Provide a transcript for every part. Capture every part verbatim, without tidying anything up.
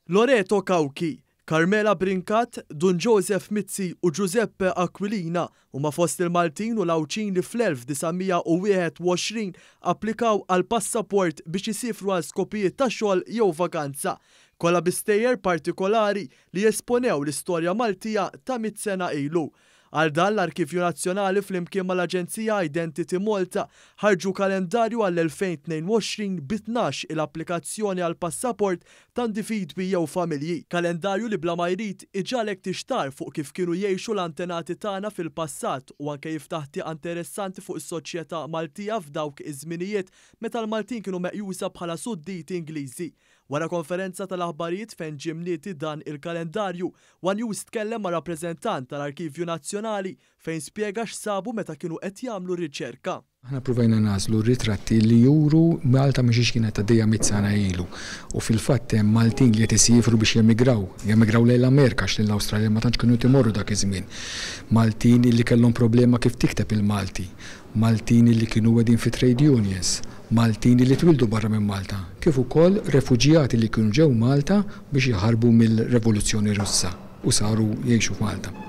Loreto Cauchi, Carmela Brincat, Dun Joseph Mizzi u Giuseppe Aquilina huma fost il-Maltin u l-Għawdxin li fl-elf disa' mija u wieħed u għoxrin applikaw għal passaport biex isifru għal skopijiet ta' xogħol jew vakanza. Kollha bi stejjer partikolari li jesponew l-istorja Maltija ta' mitt sena ilu. Għal dan l-Arkivju Nazzjonali flimkien mal-Aġenzija Identity Malta ħarġu kalendarju għall-elfejn tnejn u għoxrin bi tnax il-applikazzjoni għal passaport ta' individwi jew familji. Kalendarju li bla ma jrid iġalek tixtar fuq kif kienu jgħixu l-antenati tagħna fil-passat u anke jiftaħ tieqa interessanti fuq is-soċjetà Maltija f'dawk iż-żminijiet meta l-Maltin kienu meqjusa bħala sudditi Ingliżi. Wara konferenza tal-aħbarijiet fejn ġie mnieti dan il-kalendarju, One News tkellem ma' rappreżentant tal-Arkivju Nazzjonali fejn spjega x'sabu meta kienu qed jagħmlu riċerka. Aħna provajna nagħżlu ritratti li juru Malta mhix kienet għaddejja mitt sena ilu. U fil-fatt hemm Maltin li qed isifru biex jemigraw, jemigraw lejn l-Amerika għax lejn l-Awstralja ma tantx kienu timorru dak iż-żmien. Maltin li kellhom problema kif tikteb il-Malti, Maltin li kienu wedin fi trade unions, Maltin li twildu barra minn Malta, kif ukoll refuġjati li kienu ġew Malta biex jaħarbu mill-Revoluzzjoni Russa u saru jgħixu f'Malta.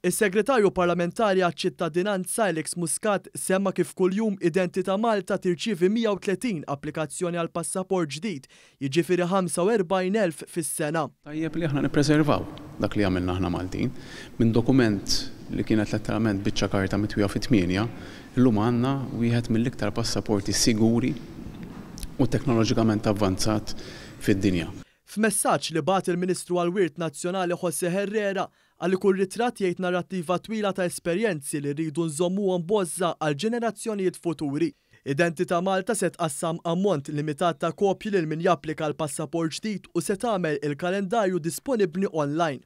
Is-Segretarju Parlamentari għaċ-Ċittadinanza Alex Muscat semma kif kuljum Identità Malta tirċievi mija u tletin applikazzjoni għal passaport ġdid, jiġifieri ħamsa u erbgħin elf fis-sena. Tajjeb li aħna nippreservaw dak li għamilna aħna Maltin minn dokument li kienet letteralment biċċa karta mitwija fi tmienja, illum għandna wieħed mill-iktar passaporti siguri u teknoloġikament avvanzat fid-dinja. F'messaġġ li bagħat il-Ministru għall-Wirt Nazzjonali José Herrera għal kull ritratt jgħid narrattiva twila ta' esperjenzi li rridu nżommuhom bozza għal ġenerazzjonijiet futuri. Identità Malta se tqassam ammont limitat ta' kopji lil min japplika l-passaport ġdid u se tagħmel il-kalendarju disponibbli online.